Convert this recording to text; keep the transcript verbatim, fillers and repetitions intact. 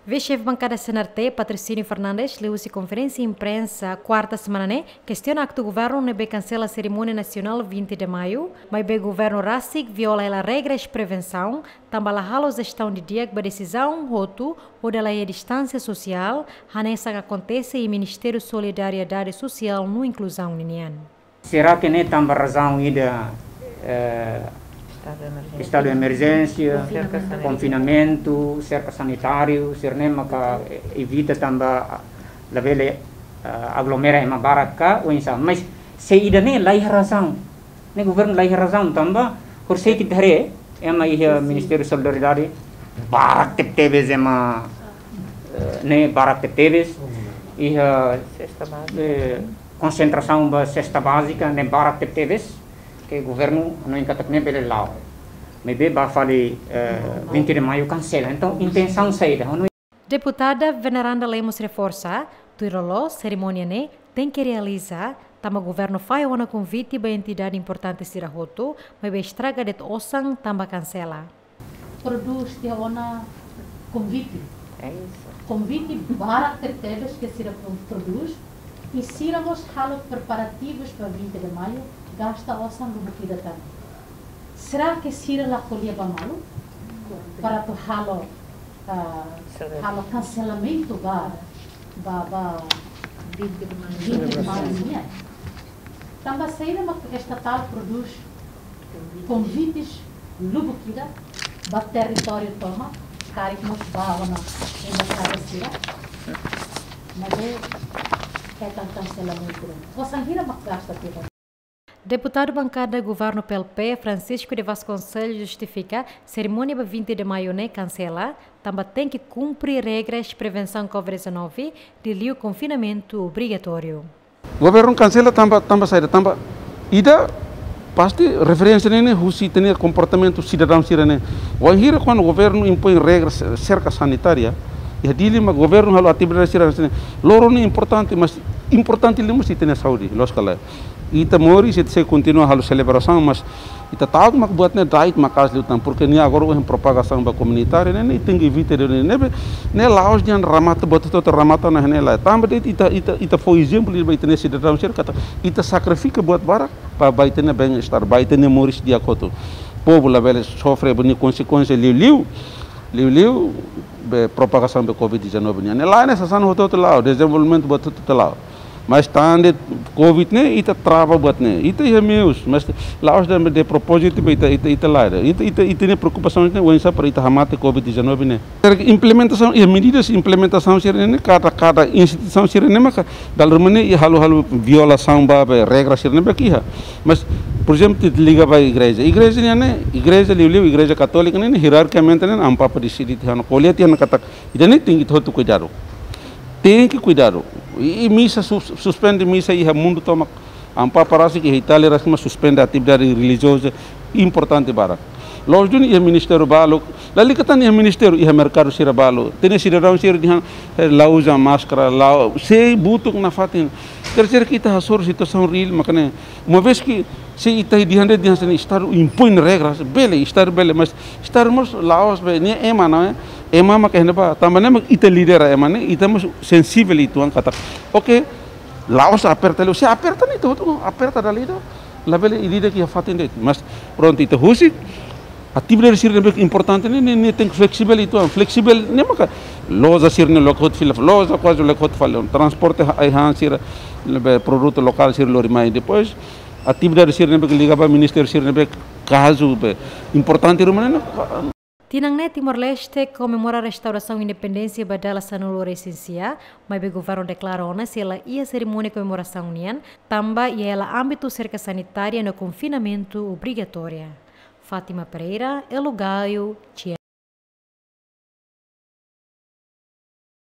Vise-Xefe Bankada C N R T, Patrocínio Fernandes, liuhusi konferénsia imprensa kuarta semana ne'e, kestiona aktu governu ne'ebé kansela serimónia nasionál vinte de Maio, maibé governu rasik viola hela regras prevensaun, tanba la halo jestaun didi'ak ba desizaun hotu, hodi hala'o distánsia sosiál, hanesan akontese iha Ministériu Solidariedade Sosiál no Inkluzaun ninian. Será que ne'e tanba razaun ida, eh, estadu de emerjénsia, konfinamentu, serka sanitáriu, sira-ne'e maka evita tanba labele, eh, aglomera ema barak ka, oinsá. Mas se ida-ne'e laiha razaun. Ne'e governu laiha razaun tanba horiseik ita haree ema iha Ministériu Solidariedade barak tebetebes ema, eh, ne'e barak tebetebes iha, eh, konsentrasaun ba sesta bázika ne'e barak tebetebes ke governu hanoin katak ne'e bele la'o. Maibé ba fali, eh, vinte de Maio kansela. Entaun intensaun saida? Deputada Veneranda Lemos reforsa, tuir loloos serimónia ne'e tenke realiza, tanba governu fahe ona konvite ba entidade importante sira hotu, maibé estraga de'it osan tanba kansela. Prodús tiha ona konvite. Konvite barak tebetebes ke sira pro-, prodús, i sira mós halo preparativus ba vinte de Maio, gasta osan lubuk ida tan. Será ke sira la ko'alia ba malu para atu halo, ah, halo kanselamentu ba, ba, ba vinte de Maio nian? Tanba saida mak estatál prodús konvites lubuk ida ba territóriu tomak, karik mós ba ona embaixada sira, maibé hetan kanselamentu. Osan hira mak gasta tiha? Deputadu bankada governu P L P, Francisco de Vasconcelos, justifika serimónia ba vinte de Maio ne'e kansela, tanba tenke kumpre regras prevensaun covid dezanove, liuliu konfinamentu obrigatóriu. Governu kansela tanba, tanba saida, tanba ida pasti referénsia ne'e, ne'e husi ita-nia komportamentu sidadaun sira-ne'e. Wainhira kuandu governu impoin regras serka sanitária, iha Dili mak governu halo atividade sira-ne'e. Loron ne'e importante, mas importante liu mós ita-nia saúde, loos ka lae? Ita moris, ita sei kontinua halo selebrasaun, mas ita ta'uk mak buat ne'e da'et maka'as liután, porque nia agora ohin propagasaun ba komunitária, ne'e, ne'e tenke evita de'it, ne'e, ne'e, ne'e la'ós dehan remata, buat hotu-hotu remata ona ne'e lae. Tanba de'it ita, ita, ita fó ezemplu ba ita-nia sidadaun sira katak ita sakrifika buat barak ba, ba ita-nia bem-estar, ba ita-nia moris di'ak hotu. Povu labele sofre ba nia konsekuénsia liuliu, liuliu be propagasaun be covid dezanove nian. Ne'e lae, ne'e sasán hotu-hotu la'o, dezenvolvimentu buat hotu-hotu la'o. Mas tan de'it covid ne'e, ita trava buat ne'e. Ita iha meius, mas la'ós de'it, de'it propózitu ba ita, ita, ita lae. Ita, ita, ita-nia preokupasaun ne'e oinsá para ita hamate covid dezanove ne'e. Será ke implementasaun, iha medidas implementasaun sira-ne'e, kada, kada instituisaun sira-ne'e maka dala ruma ne'e iha halo, halo violasaun ba, ba regras sira-ne'ebé ke iha. Mas, por ezemplu, ita liga ba igreja. Igreja nian ne'e, igreja liuliu, igreja katólika ne'e, ne'e hierarkikamente ne'e, Amu Papa deside tiha ona, ko'alia tiha ona katak ida-ne'e tenke ita hotu kuidadu. Tenke kuidadu. I, i misa sus-, suspende misa iha mundu tomak. Amu Papa rasik iha Itália rasik mak suspende atividade relijioza importante barak. Loos duni iha ministériu balu, lalika tan iha ministériu, iha merkadu sira balu. Ita-nia sidadaun sira dehan, eh, la uza máskara, la, sei butuk nafatin. Terceiro ke ita hasoru situasaun reál, maka ne'e, uma vez ke se ita dehan de'it, dehan se ne'e estadu impoin regras, bele, estadu bele, mas estadu mós la'ós be, ne'e ema, não é? Ema mak iha ne'ebá, tanba ne'e mak ita lidera ema ne'e, ita mós sensivel uitoan katak. Oke, la'ós aperta liu, se aperta ne'e ita hotu aperta dala ida, labele ida-idak iha fatin de'it. Mas prontu, ita husik, atividade sira ne'ebé importante ne'e, ne'e, ne'e tenke fleksivel uitoan, fleksivel ne'e maka loja sira-ne'e loke hotu fila, loja kuaze loke hotu fali, transporte ai-han sira, ne'ebé produtu lokál sira lori mai. Depois, atividade sira ne'ebé liga ba ministériu sira ne'ebé kazu be importante ruma ne'e. Tinan ne'e Timor-Leste komemora restaurasaun independénsia ba dala sanulu-resin-sia, maibé governu deklara ona se la iha serimónia komemorasaun nian, tanba iha hela ámbitu serka sanitária no konfinamentu obrigatória. Fátima Pereira, Elo Gaio,